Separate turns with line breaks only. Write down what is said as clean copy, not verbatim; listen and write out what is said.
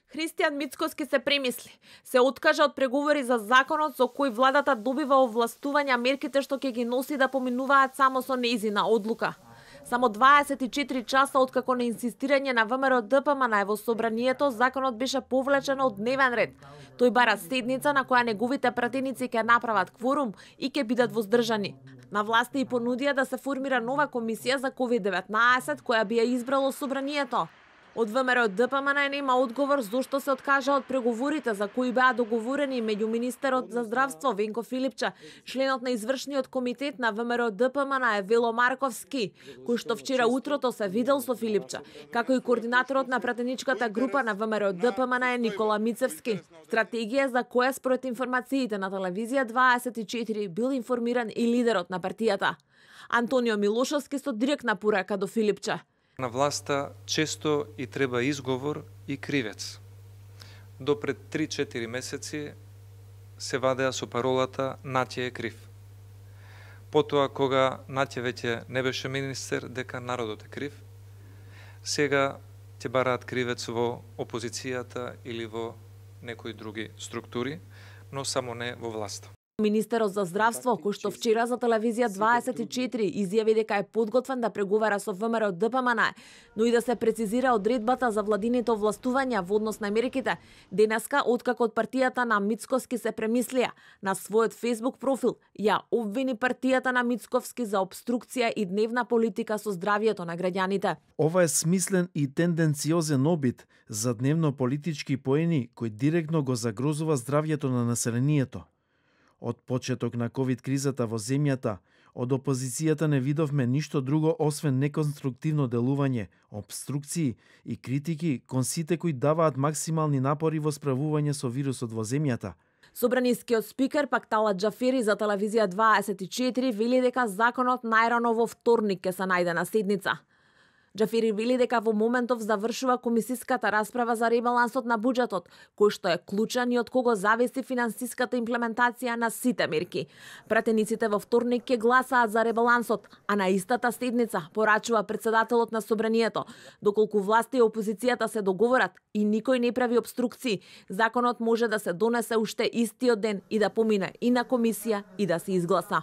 Христијан Мицкоски се премисли. Се откажа од преговори за законот со кој владата добива овластувања мерките што ќе ги носи да поминуваат само со нејзина одлука. Само 24 часа откако на инсистирање на ВМРО ДПМН во собранието, законот беше повлечен од дневен ред. Тој бара седница на која неговите пратеници ќе направат кворум и ќе бидат воздржани. На власти и понудија да се формира нова комисија за COVID-19 која би ја избрало собранието. Од ВМРО ДПМН нема одговор зошто се откажа од преговорите за кои беа договорени меѓу министерот за здравство Венко Филипче, членот на извршниот комитет на ВМРО ДПМН Вело Марковски, кој што вчера утрото се видел со Филипче, како и координаторот на пратеничката група на ВМРО ДПМН Никола Мицевски. Стратегија за која според информациите на телевизија 24 бил информиран и лидерот на партијата. Антонио Милошовски со директна порака до Филипче.
На власта често и треба изговор и кривец. До пред 3-4 месеци се вадеа со паролата Наќе е крив. Потоа кога Наќе веќе не беше министер, дека народот е крив, сега ќе бараат кривец во опозицијата или во некои други структури, но само не во власта.
Министерот за здравство, кој што вчера за телевизија 24 изјави дека е подготвен да преговара со ВМРО ДПМН, но и да се прецизира одредбата за владините овластувања во однос на мерките, денеска, откако од партијата на Мицкоски се премислија, на својот Facebook профил ја обвини партијата на Мицковски за обструкција и дневна политика со здравјето на граѓаните.
Ова е смислен и тенденциозен обид за дневно политички поени кој директно го загрозува здравјето на населението. Од почеток на ковид кризата во земјата, од опозицијата не видовме ништо друго освен неконструктивно делување, обструкции и критики кон сите кои даваат максимални напори во справување со вирусот во земјата.
Собранискиот спикер пак Талат Џафери за телевизија 24 вели дека законот најрано во вторник ќе се најде на седница. Џафери вели дека во моментов завршува комисиската расправа за ребалансот на буџетот, кој што е клучен и од кого зависи финансиската имплементација на сите мерки. Пратениците во вторник ќе гласаат за ребалансот, а на истата седница, порачува председателот на собранието, доколку власта и опозицијата се договорат и никој не прави обструкции, законот може да се донесе уште истиот ден и да помине и на комисија и да се изгласа.